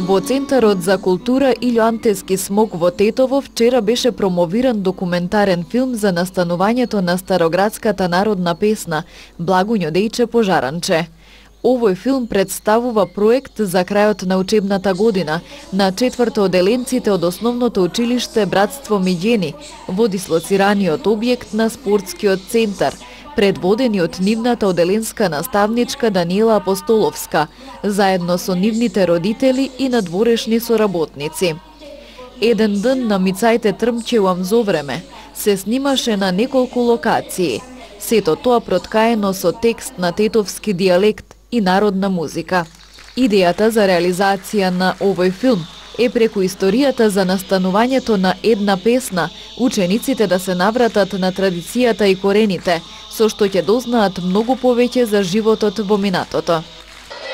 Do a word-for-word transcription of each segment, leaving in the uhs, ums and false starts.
Во Центарот за култура Илјо Антески Смок во Тетово вчера беше промовиран документарен филм за настанувањето на староградската народна песна Благуњо дејче пожаранче. Овој филм представува проект за крајот на учебната година на четврто оделенците од основното училиште Братство Миѓени во дислоцираниот објект на спортскиот центар, предводени од нивната оделенска наставничка Даниела Апостоловска, заедно со нивните родители и надворешни соработници. Еден ден на Мицајте трмчевам зо време се снимаше на неколку локации, сето тоа проткаено со текст на тетовски дијалект и народна музика. Идејата за реализација на овој филм е преку историјата за настанувањето на една песна, учениците да се навратат на традицијата и корените, со што ќе дознаат многу повеќе за животот во минатото.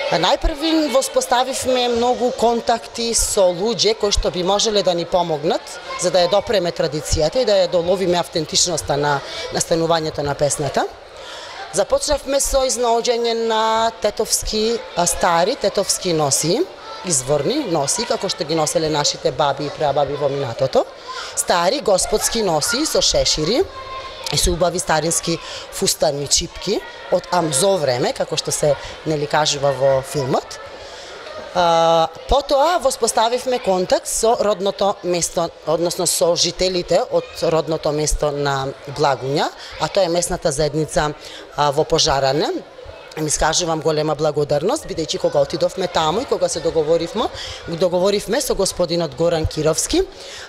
Најпрви воспоставивме многу контакти со луѓе кои што би можеле да ни помогнат за да ја допреме традицијата и да ја доловиме автентичноста на настанувањето на песната. Започнавме со изнаоѓање на тетовски стари, тетовски носи, изворни носи, како што ги носеле нашите баби и прабаби во минатото. Стари господски носи со шешири и со убави старински фустани чипки од амзо време, како што се нели кажува во филмот. А, потоа воспоставивме контакт со родното место, односно со жителите од родното место на Благуња, а тоа е местната заедница а, во Пожаране. Ми скажувам голема благодарност, бидејќи кога отидовме таму и кога се договоривме, договоривме со господинот Горан Кировски,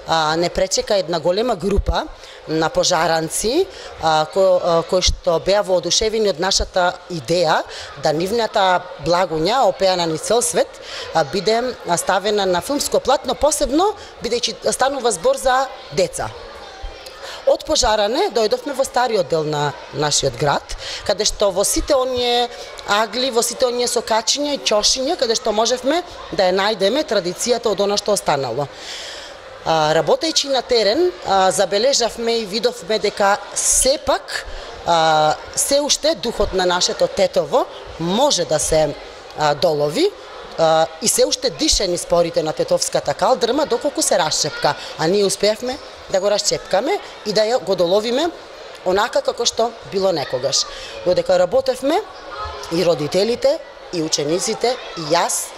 а, не пречека една голема група на пожаранци а, ко, а, кои што беа воодушевени од нашата идеја да нивната Благуња, опеана низ цел свет, а, биде ставена на филмско платно, посебно бидејќи станува збор за деца. Од Пожаране дојдовме во стариот дел на нашиот град, каде што во сите оние агли, во сите оние сокачиња и ќошиња, каде што можевме да ја најдеме традицијата од она што останало. А, работејќи на терен, а, забележавме и видовме дека сепак а, се уште духот на нашето Тетово може да се а, долови, Uh, и се уште дише низ порите на тетовската калдрма доколку се расчепка, а ние успеавме да го расчепкаме и да ја го доловиме онака како што било некогаш. Додека работевме, и родителите, и учениците, и јас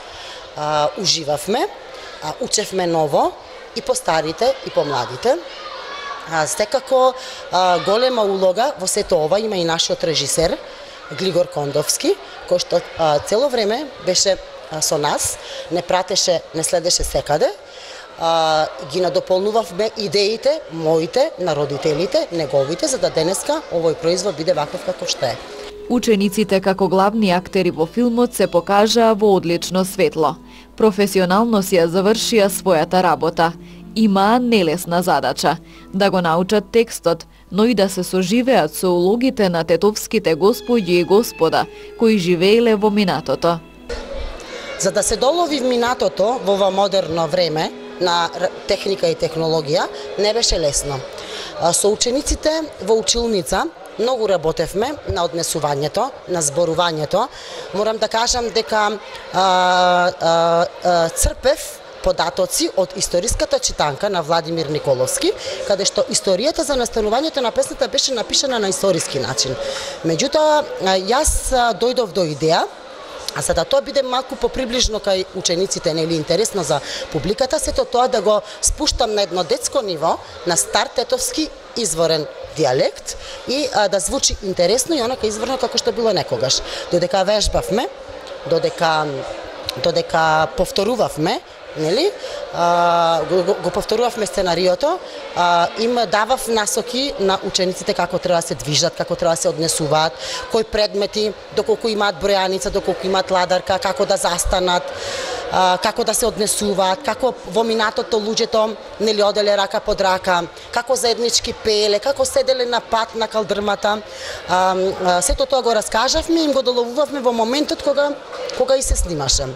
uh, уживавме, uh, учевме ново и по старите, и по младите. Uh, секако uh, голема улога во сето ова има и нашиот режисер Глигор Кондовски, кој што uh, цело време беше со нас, не пратеше, не следеше секаде, а, ги надополнувавме идеите, моите, на родителите, неговите, за да денеска овој производ биде ваков како што е. Учениците како главни актери во филмот се покажаа во одлично светло. Професионално си ја завршија својата работа. Имаа нелесна задача да го научат текстот, но и да се соживеат со улогите на тетовските господи и господа кои живееле во минатото. За да се долови в минатото во ова модерно време на техника и технологија, не беше лесно. Со учениците во училница многу работевме на однесувањето, на зборувањето. Морам да кажам дека а, а, а, црпев податоци од историската читанка на Владимир Николовски, каде што историјата за настанувањето на песната беше напишана на историски начин. Меѓутоа, јас дојдов до идеја, а за да тоа биде малку поприближно кај учениците, нели интересно за публиката, сето тоа да го спуштам на едно детско ниво, на стар тетовски изворен дијалект и а, да звучи интересно и онака изворно како што било некогаш. Додека вежбавме, додека додека повторувавме, нели? А, го, го повторувавме сценариото, а, им давав насоки на учениците како треба да се движат, како треба да се однесуваат, кои предмети, доколку имаат бројаница, доколку имаат ладарка, како да застанат, а, како да се однесуваат, како во минатото луѓето нели оделе рака под рака, како заеднички пееле, како седеле на пат на калдрмата. А, а, сето тоа го раскажавме и им го доловувавме во моментот кога кога и се снимаше.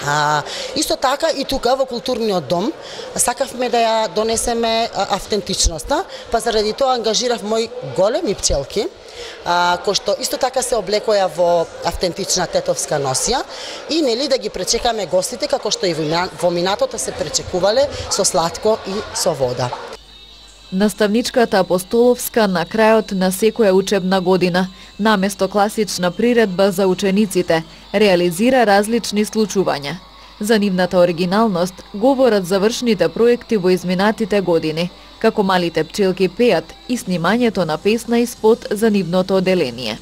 А, исто така и тука во културниот дом сакавме да ја донесеме автентичноста, па заради тоа ангажирав мои големи пчелки, а, кои што исто така се облекоја во автентична тетовска носија и нели да ги пречекаме гостите како што и во минатото се пречекувале со сладко и со вода. Наставничката Апостоловска на крајот на секоја учебна година, наместо класична приредба за учениците, реализира различни случувања. За нивната оригиналност говорат завршните проекти во изминатите години, како малите пчелки пеат и снимањето на песна и спот за нивното оделение.